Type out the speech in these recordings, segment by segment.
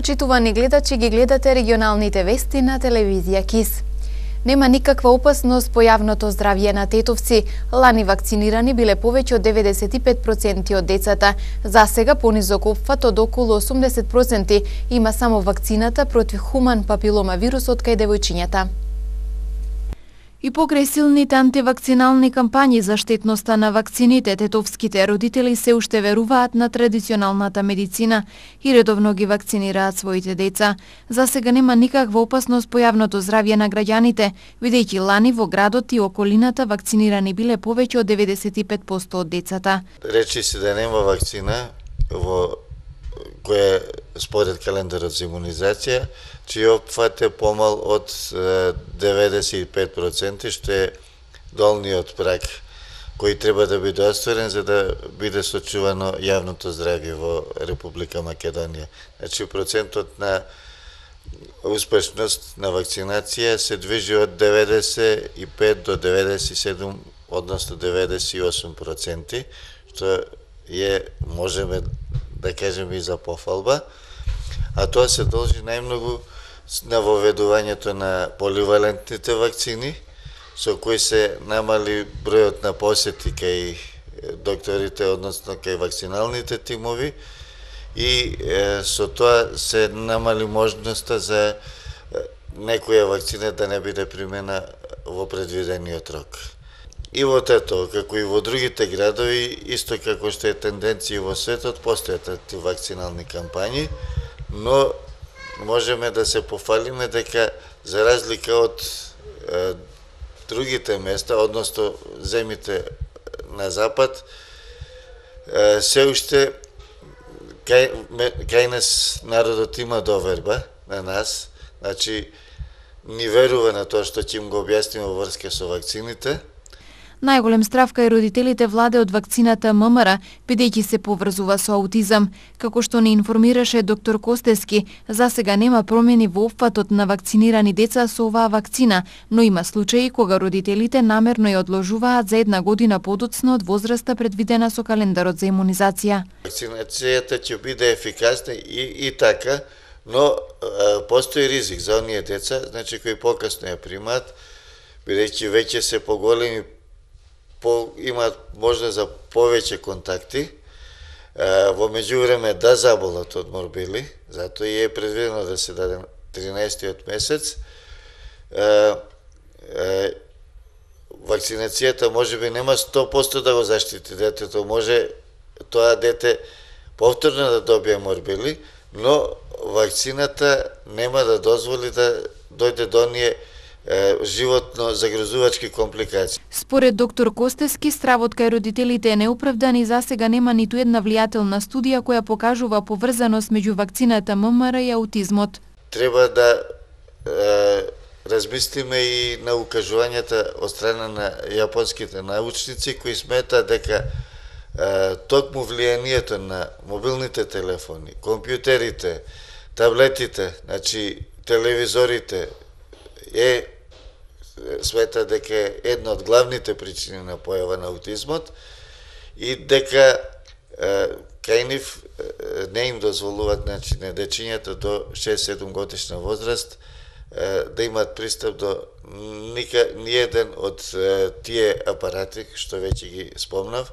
Почитувани гледачи, ги гледате регионалните вести на телевизија КИС. Нема никаква опасност по јавното здравје на тетовци. Лани вакцинирани биле повеќе од 95% од децата. За сега понизок опфат од околу 80% има само вакцината против хуман папилома вирусот кај девојчињата. И покрај силните антивакцинални кампањи за штетноста на вакцините, тетовските родители се уште веруваат на традиционалната медицина и редовно ги вакцинираат своите деца. За сега нема никаква опасност по јавното здравје на граѓаните, бидејќи лани во градот и околината вакцинирани биле повеќе од 95% од децата. Речи се да нема вакцина во која според календарот за имунизација, чиј опфат е помал од 95%, што е долниот праг кој треба да биде осторен за да биде сочувано јавното здравје во Република Македонија. Значи, процентот на успешност на вакцинација се движи од 95 до 97, односно 98%, што е, можеме да кажеме, и за пофалба, а тоа се должи најмногу на воведувањето на поливалентните вакцини, со кои се намали бројот на посети кај докторите, односно кај вакциналните тимови, и со тоа се намали можноста за некоја вакцина да не биде примена во предвидениот рок. И во Тетово, како и во другите градови, исто како што е тенденција во светот, постојат антивакцинални кампањи, но можеме да се пофалиме дека за разлика од другите места, односно земите на запад, се уште кај нас народот има доверба на нас, значи ни верува на тоа што ќе им го објасниме во врска со вакцините. Најголем страв кај родителите владе од вакцината ММР, бидејќи се поврзува со аутизам. Како што ни информираше доктор Костески, за сега нема промени во опфатот на вакцинирани деца со оваа вакцина, но има случаи кога родителите намерно ја одложуваат за 1 година подоцна од возраста предвидена со календарот за имунизација. Вакцинацијата ќе биде ефикасна и така, но постои ризик за оние деца, значи кои покасно ја примаат, бидејќи веќе се поголеми, имаат можност за повеќе контакти, во меѓувреме да заболат од морбили, затоа и е предвидено да се даде 13-тиот месец. Вакцинацијата можеби нема 100% да го заштити детето, може тоа дете повторно да добие морбили, но вакцината нема да дозволи да дојде до оние животно загрозувачки компликации. Според доктор Костески, стравот кај родителите е неоправдан и засега нема ниту една влијателна студија која покажува поврзаност меѓу вакцината ММР и аутизмот. Треба да размислиме и на укажувањата од страна на јапонските научници кои сметаат дека токму влијанието на мобилните телефони, компјутерите, таблетите, значи телевизорите смета дека е една од главните причини на појава на аутизмот и дека кај нив не им дозволуваат, значи, на дечињата до 6-7 годишна возраст да имаат пристап до ниеден од тие апарати што веќе ги спомнав,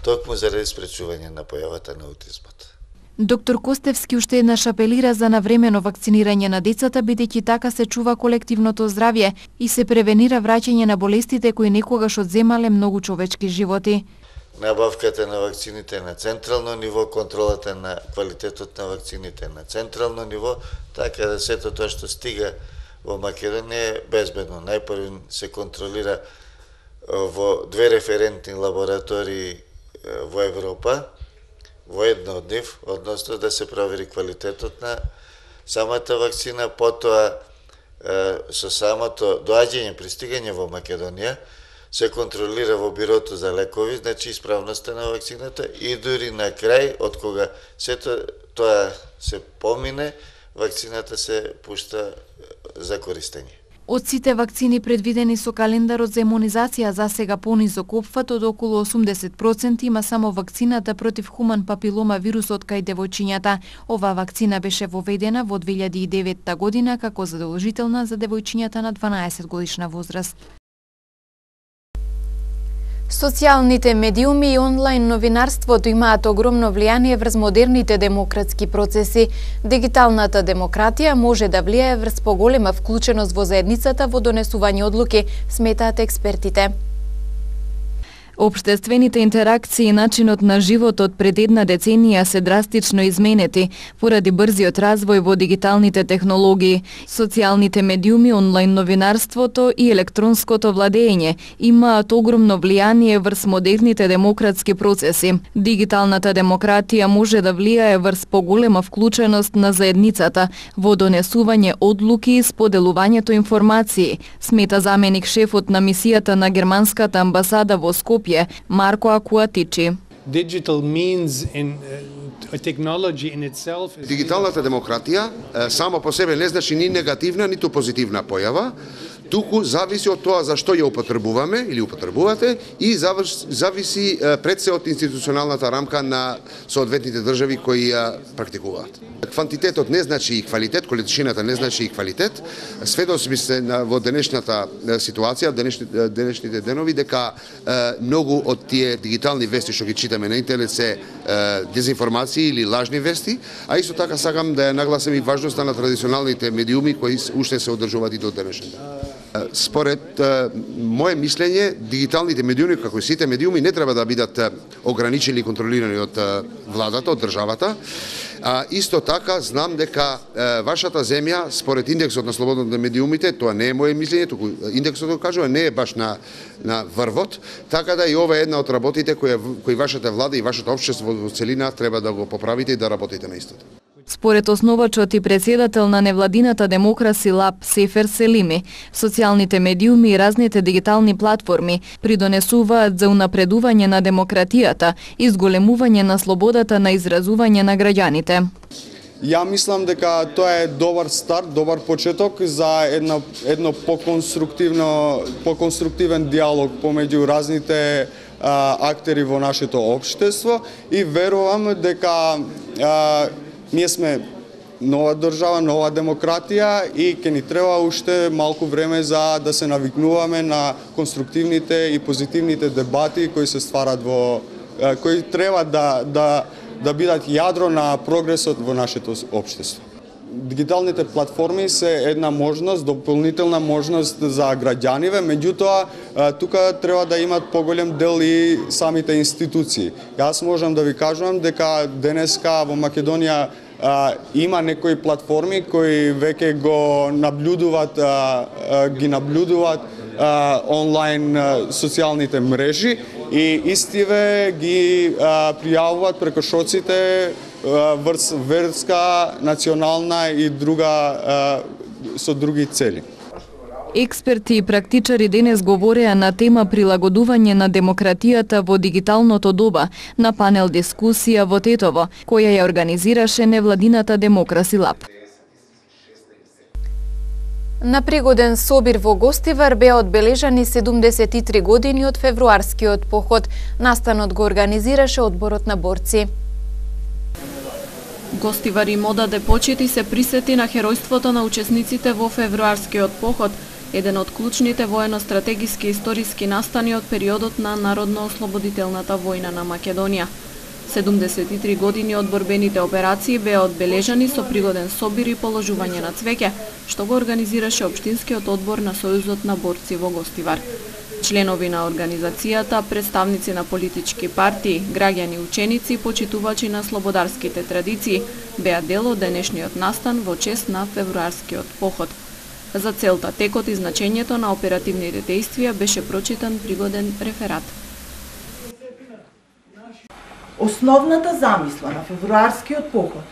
токму заради спречување на појавата на аутизмот. Доктор Костевски уште еднаш апелира за навремено вакцинирање на децата, бидејќи така се чува колективното здравје и се превенира враќање на болестите кои некогаш одземале многу човечки животи. Набавката на вакцините на централно ниво, контролата на квалитетот на вакцините на централно ниво, така да сето тоа што стига во Македонија е безбедно. Најпрво се контролира во 2 референтни лаборатории во Европа, во една од нив, односно да се провери квалитетот на самата вакцина, потоа со самото доаѓање, пристигање во Македонија, се контролира во бирото за лекови, значи исправноста на вакцината и дури на крај, од кога сето тоа се помине, вакцината се пушта за користење. Од сите вакцини предвидени со календарот за имунизација за сега понизок опфат од околу 80% има само вакцината против хуман папилома вирусот кај девојчињата. Оваа вакцина беше воведена во 2009 година како задолжителна за девојчињата на 12 годишна возраст. Социјалните медиуми и онлайн новинарството имаат огромно влијание врз модерните демократски процеси. Дигиталната демократија може да влијае врз поголема вклученост во заедницата во донесување одлуки, сметаат експертите. Општествените интеракции и начинот на животот пред една деценија се драстично изменети поради брзиот развој во дигиталните технологии. Социјалните медиуми, онлайн новинарството и електронското владење имаат огромно влијание врз модерните демократски процеси. Дигиталната демократија може да влијае врз поголема вклученост на заедницата во донесување одлуки и споделувањето информации, смета заменик шефот на мисијата на германската амбасада во Скопје Марко Акуатичи. Дигиталната демократија само по себе не значи ни негативна, ниту позитивна појава, туку зависи од тоа за што ја употребуваме или употребувате и зависи пред се од институционалната рамка на соодветните држави кои ја практикуваат. Квантитетот не значи и квалитет, количината не значи и квалитет. Сведоци се во денешната ситуација, денешните денови, дека многу од тие дигитални вести што ги читаме на интернет се дезинформации или лажни вести, а исто така сакам да ја нагласам и важноста на традиционалните медиуми кои уште се одржуваат и до денешен ден. Според мое мислење, дигиталните медиуми, како и сите медиуми, не треба да бидат ограничени и контролирани од владата, од државата. Исто така, знам дека вашата земја, според индексот на слободата на медиумите, тоа не е мое мислење, туку индексот го кажува, не е баш на врвот, така да и ова е една од работите кои вашата влада и вашето општество во целина треба да го поправите и да работите на истото. Според основачот и председател на невладината Демокраси Лаб Сефер Селими, социјалните медиуми и разните дигитални платформи придонесуваат за унапредување на демократијата и зголемување на слободата на изразување на граѓаните. Ја мислам дека тоа е добар старт, добар почеток за едно поконструктивен диалог помеѓу разните актери во нашето општество и верувам дека ние сме нова држава, нова демократија и ќе ни треба уште малку време за да се навикнуваме на конструктивните и позитивните дебати кои се стварат кои треба да бидат јадро на прогресот во нашето општество. Дигиталните платформи се една можност, дополнителна можност за граѓаниве, меѓутоа тука треба да имат поголем дел и самите институции. Јас можам да ви кажувам дека денеска во Македонија има некои платформи кои веќе ги наблюдуват онлайн социјалните мрежи и истиве ги пријавуваат прекошоците врз верска, национална и со други цели. Експерти и практичари денес говореа на тема прилагодување на демократијата во дигиталното доба на панел дискусија во Тетово, која ја организираше невладината Демокраси Лаб. На пригоден собир во Гостивар беа одбележани 73 години од февруарскиот поход. Настанот го организираше одборот на борци. Гостивар им одаде почит и се присети на херојството на учесниците во февруарскиот поход, еден од клучните воено-стратегиски историски настани од периодот на Народно-ослободителната војна на Македонија. 73 години од борбените операции беа одбележани со пригоден собир и положување на цвеќе, што го организираше Општинскиот одбор на Сојузот на борци во Гостивар. Членови на организацијата, представници на политички партии, граѓани, ученици и почитувачи на слободарските традиции беа дел од денешниот настан во чест на февруарскиот поход. За целта, текот и значењето на оперативните дејствија беше прочитан пригоден реферат. Основната замисла на февруарскиот поход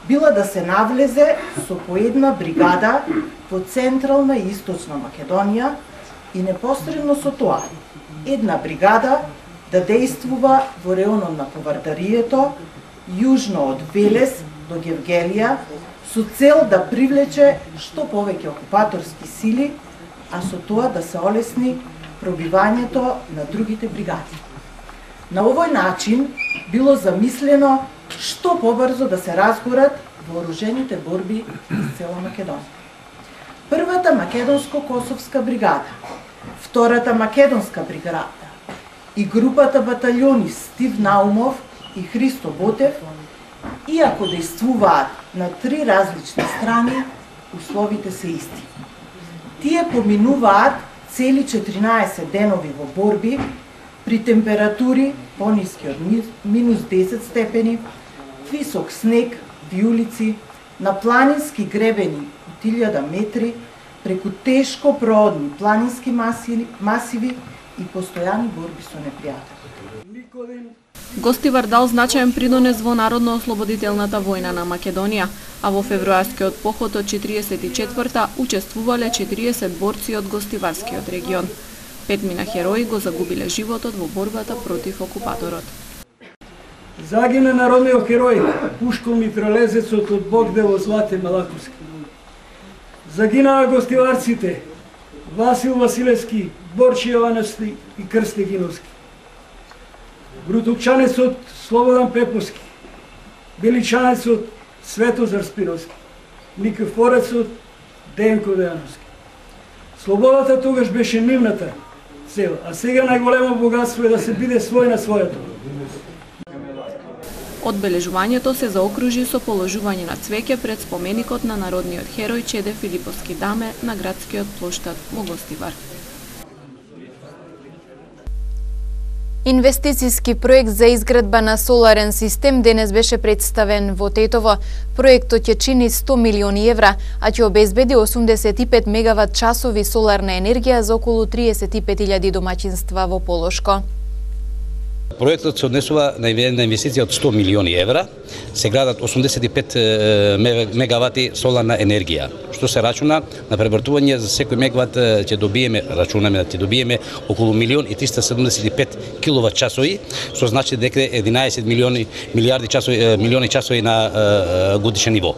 била да се навлезе со по една бригада во Централна и Источна Македонија и непосредно со тоа една бригада да дејствува во реонот на Ковардарието, јужно од Велес до Гевгелија, со цел да привлече што повеќе окупаторски сили а со тоа да се олесни пробивањето на другите бригади. На овој начин било замислено што побрзо да се разгорат вооружените борби из цела Македонија. Првата македонско-косовска бригада, втората македонска бригада и групата баталјони Стив Наумов и Христо Ботев, иако действуваат на 3 различни страни, условите се исти. Тие поминуваат цели 14 денови во борби при температури пониски од минус 10 степени, висок снег, виулици, на планински гребени од 1000 метри, преку тешко проодни планински масиви и постојани борби со непријател. Гостивар дал значаен придонес во Народно-ослободителната војна на Македонија, а во февруарскиот поход од 44-та учествувале 40 борци од гостиварскиот регион. 5 мина херои го загубиле животот во борбата против окупаторот. Загина народниот херој Пушкол Митралезецот од Богдево Злате Малаковски. Загинаа гостиварците Васил Василевски, Борче Јовановски и Крсте Гиновски. Грутукчанецот Слободан Пеповски, Беличанецот Светозар Спиновски, Никифорецот Денко Дејановски. Слободата тогаш беше нивната цел, а сега најголемо богатство е да се биде свој на својато. Одбележувањето се заокружи со положување на цвеќе пред споменикот на народниот херој Чеде Филиповски Даме на градскиот плоштад во Гостивар. Инвестициски проект за изградба на соларен систем денес беше представен во Тетово. Проектот ќе чини 100 милиони евра, а ќе обезбеди 85 мегават часови соларна енергија за околу 35.000 домаќинства во Полошко. Проектот се однесува на инвестиција од 100 милиони евра, се градат 85 мегавати соларна енергија, што се рачуна на превртување за секој мегават ќе добиеме, рачунаме да ќе добиеме околу 1.375 киловат часови, што значи дека 11 милиони часови на годишен ниво.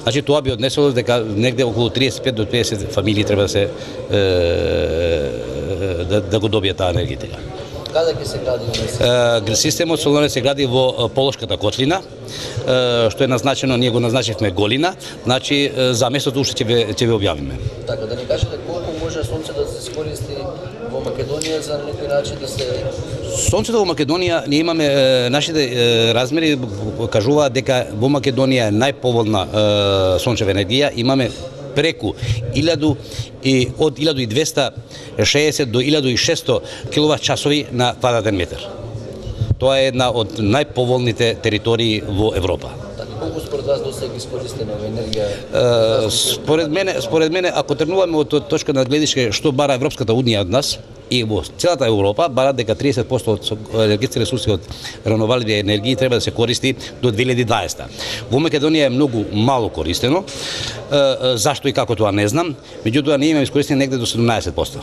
Значи тоа би однесело дека негде околу 35 до 50 фамилии треба да се да го добијат таа енергија. Каде ќе се гради? Системот соларен се гради во Полошката котлина, што е назначено, ние го назначивме Голина, значи за местото уште ќе ве објавиме. Така, да ни кажете колку може сонце да се искористи во Македонија за некој начин да се... Сонцето во Македонија, ние имаме, нашите размери кажуваат дека во Македонија е најповолна сончева енергија, имаме преку 1260 до 1600 киловат часови на квадратен метар. Тоа е една од најповолните територии во Европа. Колку според вас досега искористена енергија? Според мене, ако тргнуваме од точка на гледишке што бара Европската унија од нас и во целата Европа, барат дека 30% од енергетски ресурси од реновабилни енергии треба да се користи до 2020. Во Македонија е многу мало користено. Зашто и како тоа не знам, меѓутоа ние имаме искористени негде до 17%.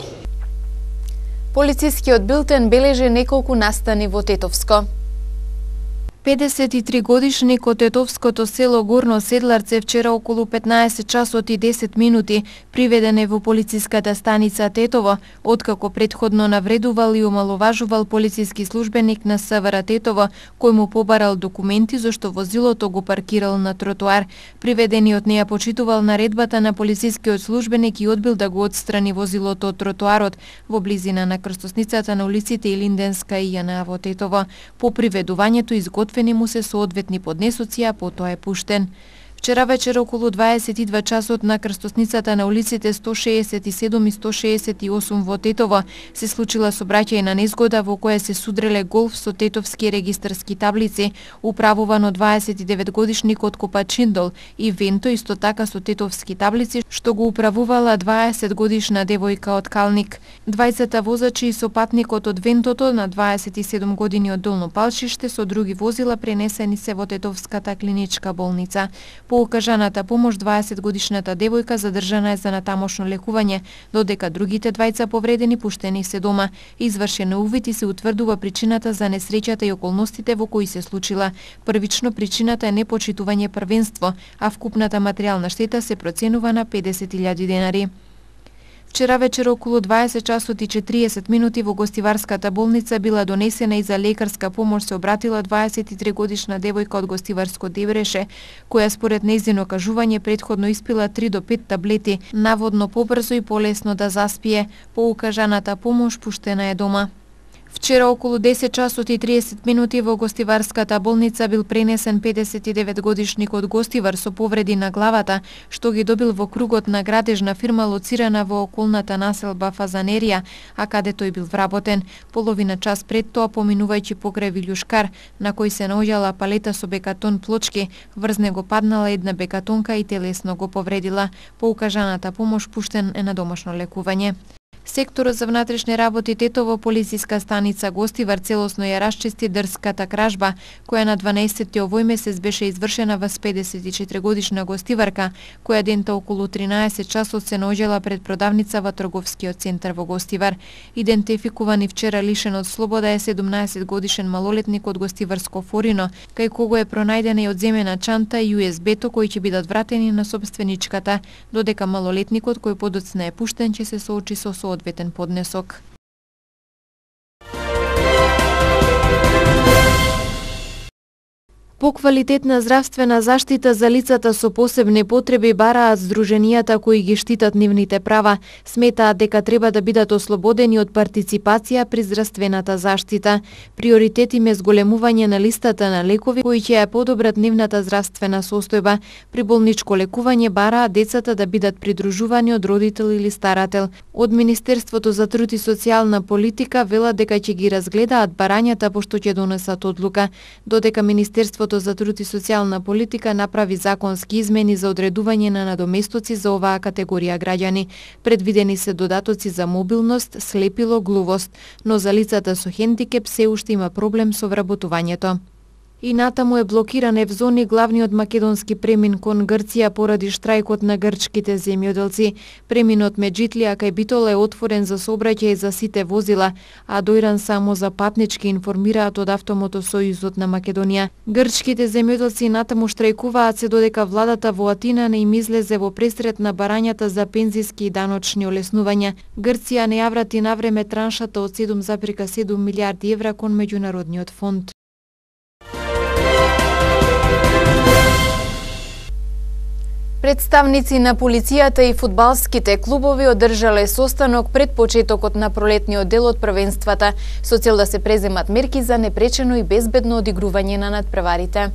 Полицискиот билтен бележи неколку настани во Тетовско. 53-годишник од тетовското село Горно Седларце вчера околу 15 часот и 10 минути приведен е во полициската станица Тетово, откако претходно навредувал и омаловажувал полициски службеник на СВР Тетово, кој му побарал документи зашто возилото го паркирал на тротоар. Приведениот не ја почитувал наредбата на полицискиот службеник и одбил да го отстрани возилото од тротоарот во близина на крстосницата на улиците Илинденска и Јана во Тетово. По приведувањето изготвени му се соодветни поднесоци, а потоа е пуштен. Вчера вечер околу 22 часот на крстосницата на улиците 167 и 168 во Тетово се случила сообраќајна незгода во која се судреле голф со тетовски регистарски таблици, управуван од 29-годишникот Копачиндол, и венто исто така со тетовски таблици, што го управувала 20-годишна девојка од Калник. Двајцата возачи и сопатникот од вентото на 27 години од Долно Палчиште со други возила пренесени се во тетовската клиничка болница. По окажаната помош 20-годишната девојка задржана е за натамошно лекување, додека другите двајца повредени пуштени се дома. Извршен е увид и се утврдува причината за несреќата и околностите во кои се случила. Првично причината е непочитување првенство, а вкупната материјална штета се проценува на 50.000 денари. Вчера вечер околу 20 часот и 40 минути во гостиварската болница била донесена и за лекарска помош се обратила 23 годишна девојка од гостиварско Дебреше, која според нејзино кажување претходно испила 3 до 5 таблети, наводно побрзо и полесно да заспие. По укажаната помош пуштена е дома. Вчера околу 10 часот и 30 минути во гостиварската болница бил пренесен 59 годишник од Гостивар со повреди на главата, што ги добил во кругот на градежна фирма лоцирана во околната населба Фазанерија, а каде тој бил вработен. Половина час пред тоа, поминувајќи покрај Вилјушкар, на кој се наоѓала палета со бекатон плочки, врз него паднала една бекатонка и телесно го повредила. По укажаната помош пуштен е на домашно лекување. Секторот за внатрешни работи Тетово, полициска станица Гостивар целосно ја расчисти дрската кражба, која на 12 овој месец беше извршена во 54 годишна гостиварка, која дента околу 13 часот се наоѓала пред продавница во трговскиот центар во Гостивар. Идентификуван и вчера лишен од слобода е 17 годишен малолетник од Гостиварско Форино, кај кого е пронајдена и одземена чанта и USB-то кои ќе бидат вратени на собственичката, додека малолетникот кој подоцна е пуштен ќе се соочи со одветен поднесок. Поквалитетна здравствена заштита за лицата со посебни потреби бараат здруженијата кои ги штитат нивните права. Сметаат дека треба да бидат ослободени од партиципација при здравствената заштита. Приоритет им е зголемување на листата на лекови кои ќе ја подобрат нивната здравствена состојба. При болничко лекување бараат децата да бидат придружувани од родител или старател. Од Министерството за труд и социјална политика велат дека ќе ги разгледаат барањата пошто ќе донесат одлука, додека Министерството за труд и социјална политика направи законски измени за одредување на надоместоци за оваа категорија граѓани. Предвидени се додатоци за мобилност, слепило, глувост, но за лицата со хендикеп се уште има проблем со вработувањето. И натаму е блокиран Евзони, главниот македонски премин кон Грција поради штрајкот на грчките земјоделци. Преминот Меджитлија кај Битола е отворен за сообраќај за сите возила, а дојран само за патнички, информираат од Автомотосојузот на Македонија. Грчките земјоделци натаму штрајкуваат се додека владата во Атина не им излезе во пресрет на барањата за пензиски и даночни олеснувања. Грција не ја врати навреме траншата од 7,7 милиарди евра кон меѓународниот фонд. Представници на полицијата и фудбалските клубови одржале состанок пред почетокот на пролетниот дел од првенствата со цел да се преземат мерки за непречено и безбедно одигрување на надпреварите.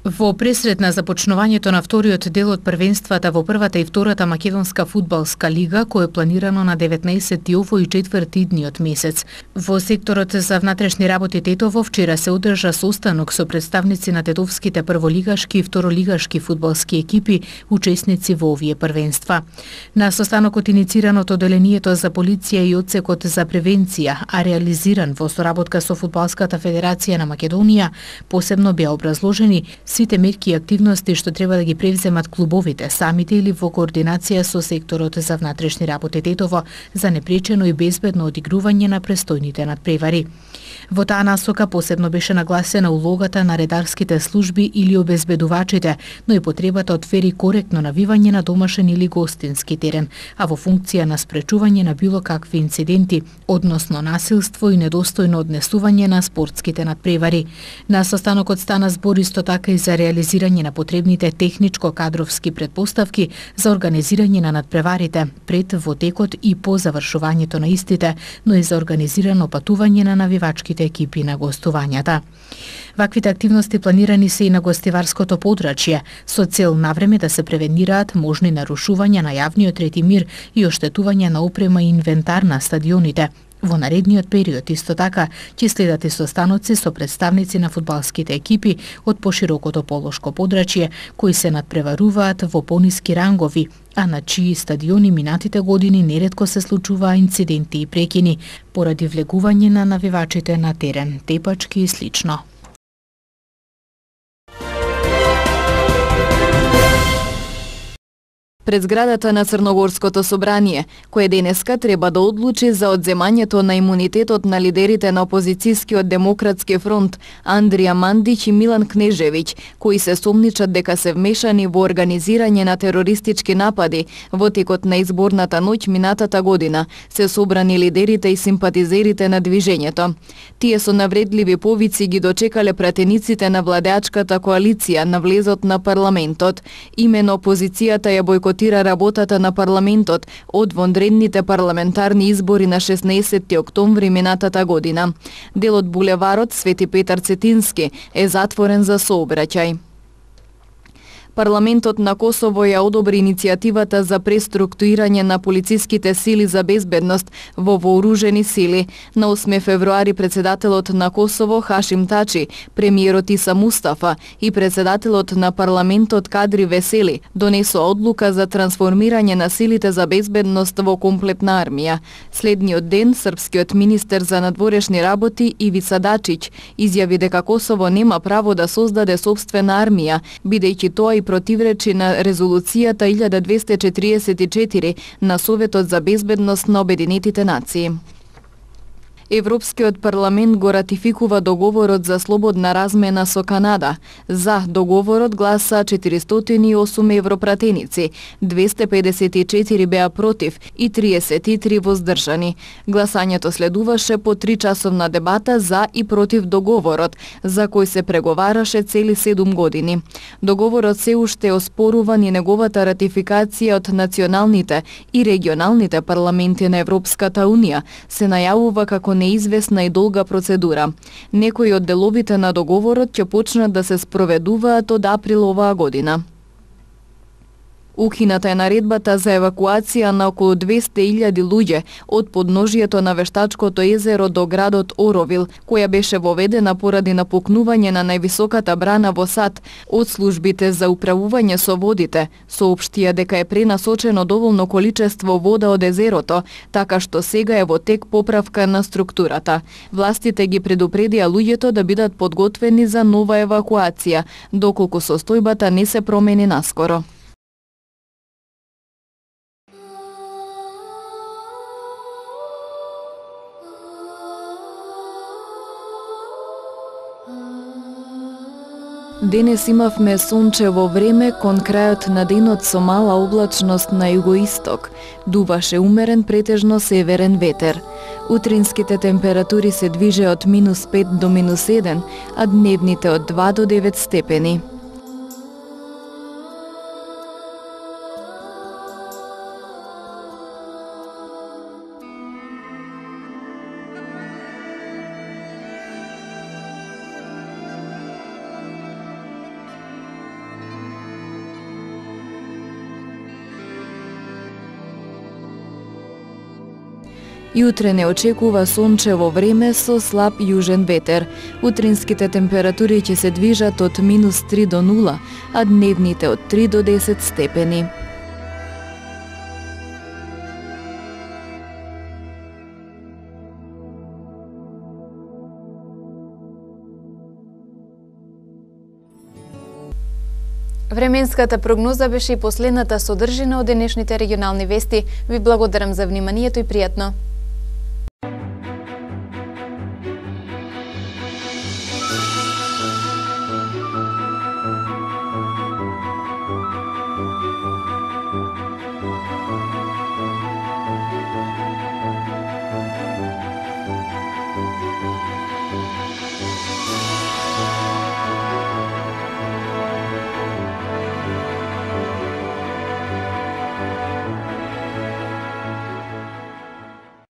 Во пресрет на започнувањето на вториот дел од првенствата во првата и втората македонска фудбалска лига, кој е планирано на 19 овој 4 дниот месец. Во секторот за внатрешни работи Тетово вчера се одржа состанок со представници на тетовските прволигашки и второлигашки фудбалски екипи, учесници во овие првенства. На состанокот инициран од Оделението за полиција и одсекот за превенција, а реализиран во соработка со Фудбалската федерација на Македонија, посебно беа образложени сите мерки и активности што треба да ги превземат клубовите самите или во координација со секторот за внатрешни работи Тетово за непречено и безбедно одигрување на престојните надпревари. Во таа насока посебно беше нагласена улогата на редарските служби или обезбедувачите, но и потребата од фер и коректно навивање на домашен или гостински терен, а во функција на спречување на било какви инциденти, односно насилство и недостојно однесување на спортските надпревари. На состанокот стана збор исто така и за реализирање на потребните техничко-кадровски предпоставки за организирање на надпреварите пред, во текот и по завршувањето на истите, но и за организирано патување на навивачките екипи на гостувањата. Ваквите активности планирани се и на гостиварското подрачје, со цел навреме да се превенираат можни нарушувања на јавниот ред и мир и оштетување на опрема и инвентар на стадионите. Во наредниот период исто така ќе следат и состаноци со представници на фудбалските екипи од поширокото полошко подрачје кои се надпреваруваат во пониски рангови, а на чии стадиони минатите години неретко се случуваа инциденти и прекини поради влегување на навивачите на терен, тепачки и слично. пред зградата на Црногорското собрание, кое денеска треба да одлучи за одземањето на имунитетот на лидерите на опозицијскиот Демократски фронт Андрија Мандич и Милан Кнежевиќ, кои се сомничат дека се вмешани во организирање на терористички напади во текот на изборната ноќ минатата година, се собрани лидерите и симпатизерите на движењето. Тие со навредливи повици ги дочекале пратениците на владеачката коалиција на влезот на парламентот. Имено опозицијата ја бојкотира работата на парламентот од вонредните парламентарни избори на 16 октомври минатата година. Делот булеварот Свети Петар Цетински е затворен за сообраќај. Парламентот на Косово ја одобри иницијативата за преструктурирање на полициските сили за безбедност во вооружени сили. На 8 февруари председателот на Косово Хашим Тачи, премиерот Иса Мустафа и председателот на парламентот Кадри Весели донесоа одлука за трансформирање на силите за безбедност во комплетна армија. Следниот ден српскиот министер за надворешни работи Ивица Дачиć изјави дека Косово нема право да создаде сопствена армија, бидејќи тоа и противречи на резолуцијата 1244 на Советот за безбедност на Обединетите нации. Европскиот парламент го ратификува договорот за слободна размена со Канада. За договорот гласа 408 европратеници, 254 беа против и 33 воздржани. Гласањето следуваше по 3-часовна дебата за и против договорот, за кој се преговараше цели 7 години. Договорот се уште е оспоруван и неговата ратификација од националните и регионалните парламенти на Европската Унија се најавува како неизвестна и долга процедура. Некои од деловите на договорот ќе почнат да се спроведуваат од април оваа година. Укината е наредбата за евакуација на околу 200.000 луѓе од подножието на Вештачкото езеро до градот Оровил, која беше воведена поради напукнување на највисоката брана во САД од службите за управување со водите, соопштија дека е пренасочено доволно количество вода од езерото, така што сега е во тек поправка на структурата. Властите ги предупредија луѓето да бидат подготвени за нова евакуација, доколку состојбата не се промени наскоро. Денес имавме сончево време кон крајот на денот со мала облачност на југоисток. Дуваше умерен претежно северен ветер. Утринските температури се движе од -5 до -1, а дневните од 2 до 9 степени. Јутре не очекува сончево време со слаб јужен ветер. Утринските температури ќе се движат од -3 до 0, а дневните од 3 до 10 степени. Временската прогноза беше и последната содржина од денешните регионални вести. Ви благодарам за вниманието и пријатно.